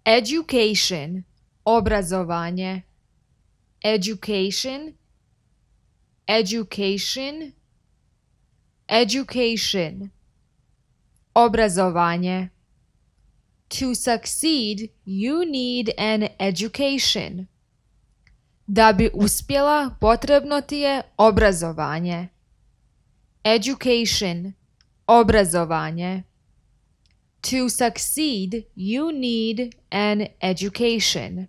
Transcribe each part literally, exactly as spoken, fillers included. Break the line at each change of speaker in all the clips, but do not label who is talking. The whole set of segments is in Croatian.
Education, obrazovanje. Education, education, education, obrazovanje. To succeed, you need an education. Da bi uspjela, potrebno ti je obrazovanje. Education, obrazovanje. To succeed, you need an education.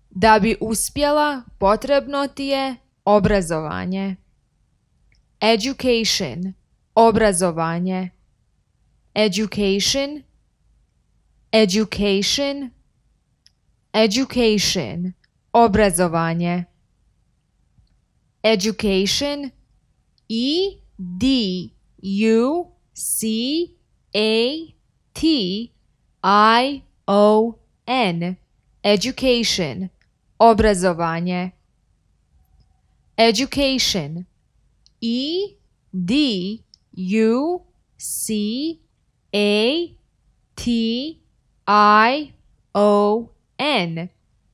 Da bi uspjela, potrebno ti je obrazovanje. Education, obrazovanje. Education, education, education, obrazovanje. Education, E D U C A T I O N, education, obrazovanje. Education, E D U C A T I O N,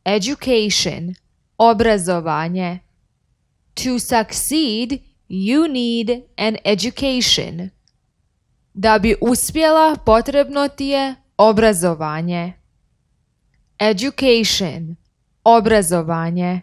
education, obrazovanje. To succeed, you need an education. Da bi uspjela, potrebno ti je obrazovanje. Education, obrazovanje.